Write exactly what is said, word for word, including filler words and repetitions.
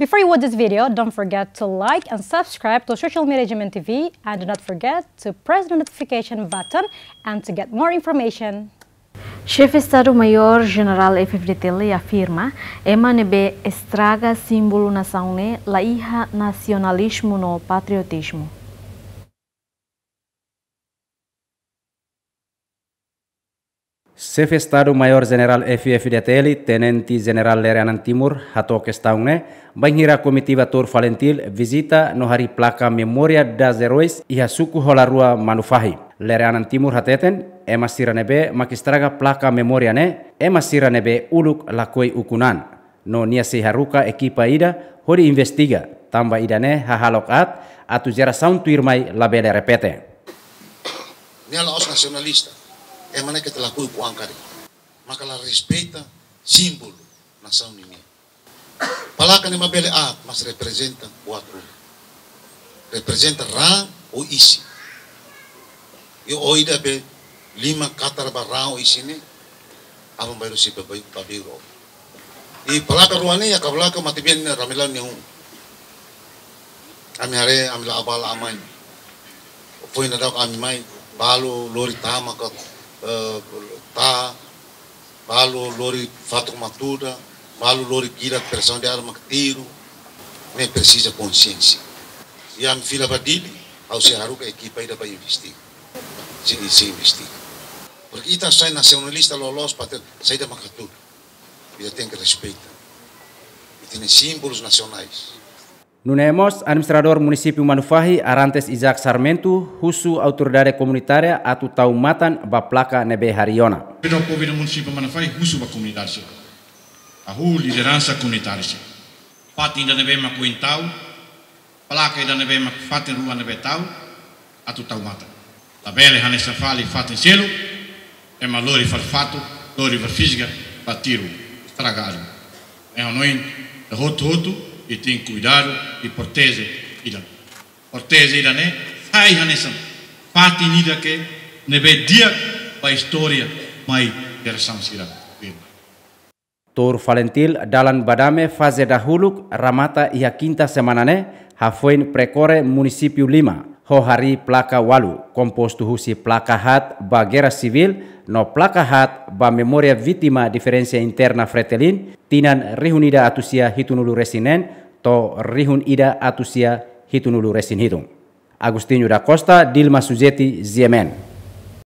Before you watch this video, don't forget to like and subscribe to social media G M N T V, and do not forget to press the notification button and to get more information. Xefe Estadu Maiór Jenerál F F D T L afirma, ema ne'ebé estraga símbolu nasaun ne'e la iha nasionalizmu no patriotizmu. Xefe Estadu Maiór Jenerál F F D T L, Tenente Jenerál Lere Anan Timur, hato'o kestaun ne'e bainhira komitiva Tour Falintil vizita no harii plaka Memória dos Heróis iha suku Holarua, Manufahi. Lere Anan Timur hateten, ema sira ne'ebé mak estraga plaka memória ne'e, ema sira ne'ebé uluk lakohi ukun an. No nia sei haruka ekipa ida hodi investiga, tanba ida-ne'e hahalok aat atu jerasaun tuirmai labele repete. Nia la'ós nasionalista, ema ne'e keta lakohi ukun an karik, maka la respeita símbolu nasaun ninian. Plaka ne'e mak bele aat, mas reprezenta buat ruma. Reprezenta raan ou isin. I ó ida be liman katar ba raan ou isin ne'e, aban-bainrua sei ba, ba, ba biru. I plaka rua ne'e, iha kabalaka matebian ne'e Ramelau nia un. Ami haree, ami la'o bá la'o mai. Foin daudauk ami mai, balu lori tama ka, eh, ta, balu lori fatuk matuda, balu lori gilat presaun de arma ka tiru, ne'e presiza konsiénsia. I ami fila ba Dili, ha'u sei haruka ekipa ida ba investiga. Sei, sei investiga. Porke ita sai nasionalista loloos, patria-, saida mak hatudu. Ita tenke respeita. Ita-nia símbolus nasionais. Nune'e mós, Administradór Munisípiu Manufahi, Arantes Isaac Sarmento, husu autoridade komunitária atu tau matan ba plaka ne'ebé harii ona. Pida povu ida Munisípiu Manufahi husu ba komunidade sira. Hahú lideransa komunitária sira. Fatin ida ne'ebé mak oin tau, plaka ida ne'ebé mak fatin rua ne'ebé tau, atu tau matan. Labele hanesan fali fatin seluk, ema lori fali fatuk, lori fali fízika, ba tiru, estraga algo. Ne'e hanoin, ita hotu-hotu, ita tenke kuidadu, i proteje ida. Proteje ida-ne'e, sai hanesan fatin ida ke ne'ebé di'ak ba istória mai jerasaun sira. Tour Falintil dalan ba dame faze dahuluk remata iha kinta semana ne'e, hafoin perkore munisípiu lima, ho harii plaka ualu, kompostu husi plaka haat ba Guerra Civil, no plaka haat ba memória vítima diferensa interna Fretilin, tinan rihun ida atus sia hitunulu resin neen, to'o rihun ida atus sia hitunulu resin hitu. Agostinho da Costa, Dilma Suzeti, G M N.